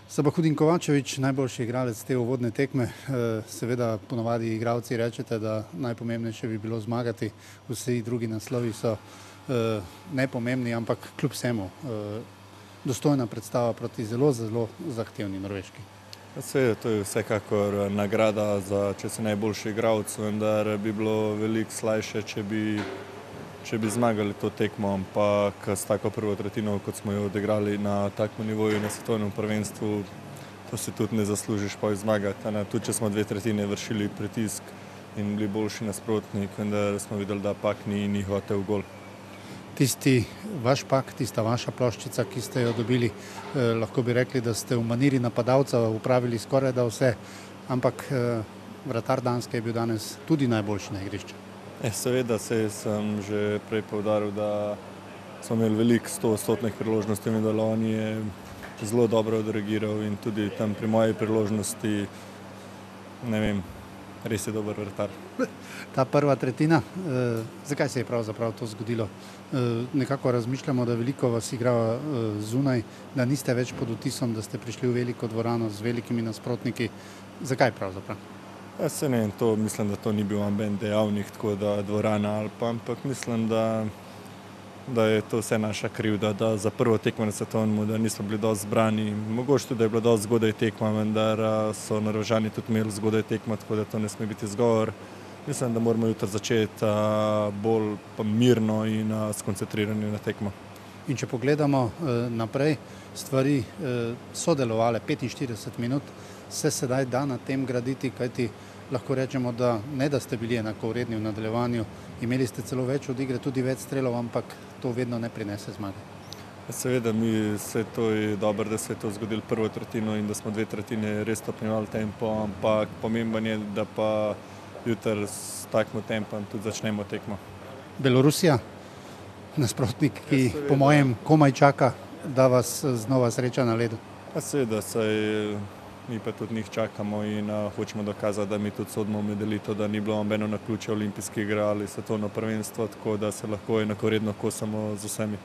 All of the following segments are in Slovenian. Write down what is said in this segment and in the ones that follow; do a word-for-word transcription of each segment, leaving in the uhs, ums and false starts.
Sabahudin Kovačević, najboljši igralec te uvodne tekme. Seveda ponovadi igralci rečete, da najpomembnejše bi bilo zmagati, vsi drugi naslovi so nepomembni, ampak kljub vsemu dostojna predstava proti zelo, zelo zahtevni Norveški. Seveda, to je vsekakor nagrada za, če si najboljši igralec, vendar bi bilo veliko slajše, če bi če bi zmagali to tekmo, ampak s tako prvo tretjino, kot smo jo odigrali na takem nivoju na svetovnem prvenstvu, to si tudi ne zaslužiš pa zmagati. Tudi če smo dve tretjine vršili pritisk in bili boljši nasprotnik, vendar smo videli, da pak ni, ni hotel gol. Tisti vaš pak, tista vaša ploščica, ki ste jo dobili, eh, lahko bi rekli, da ste v maniri napadalca upravili skoraj da vse, ampak eh, vratar Danske je bil danes tudi najboljši na igrišču. Eh, seveda, se sem že prej poudaril, da smo imeli veliko stoodstotnih priložnosti, in da on je zelo dobro odreagiral in tudi tam pri moji priložnosti, ne vem, res je dober vratar. Ta prva tretjina, eh, zakaj se je pravzaprav to zgodilo? Eh, nekako razmišljamo, da veliko vas igra eh, zunaj, da niste več pod vtisom, da ste prišli v veliko dvorano z velikimi nasprotniki. Zakaj pravzaprav? Ja, se ne, to, mislim, da to ni bil amben dejavnik, tako da dvorana ali pa, ampak mislim, da, da je to vse naša krivda, da za prvo tekmo na svetovnem, da nismo bili dosti zbrani. Mogoče tudi, da je bila dosti zgodaj tekma, vendar so Norvežani tudi imeli zgodaj tekmo, tako da to ne sme biti izgovor. Mislim, da moramo jutri začeti bolj mirno in skoncentrirani na tekmo. In če pogledamo naprej, stvari so delovale petinštirideset minut, se sedaj da na tem graditi, kajti lahko rečemo, da ne da ste bili enakovredni v nadaljevanju, imeli ste celo več od igre, tudi več strelov, ampak to vedno ne prinese zmage. Seveda, mi se to je dobro, da se je to zgodilo prvo tretjino in da smo dve tretjine res stopnjevali tempo, ampak pomemben je, da pa jutri s takim tempom tudi začnemo tekmo. Belorusija, nasprotnik, ki ja, po mojem komaj čaka, da vas znova sreča na ledu. Ja, seveda, saj mi pa tudi njih čakamo in uh, hočemo dokazati, da mi tudi sodimo v medelito, da ni bilo nobeno naključje olimpijske igre ali svetovno prvenstvo, tako da se lahko enakovredno kosamo z vsemi.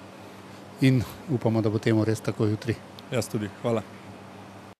In upamo, da bo temu res tako jutri. Jaz tudi. Hvala.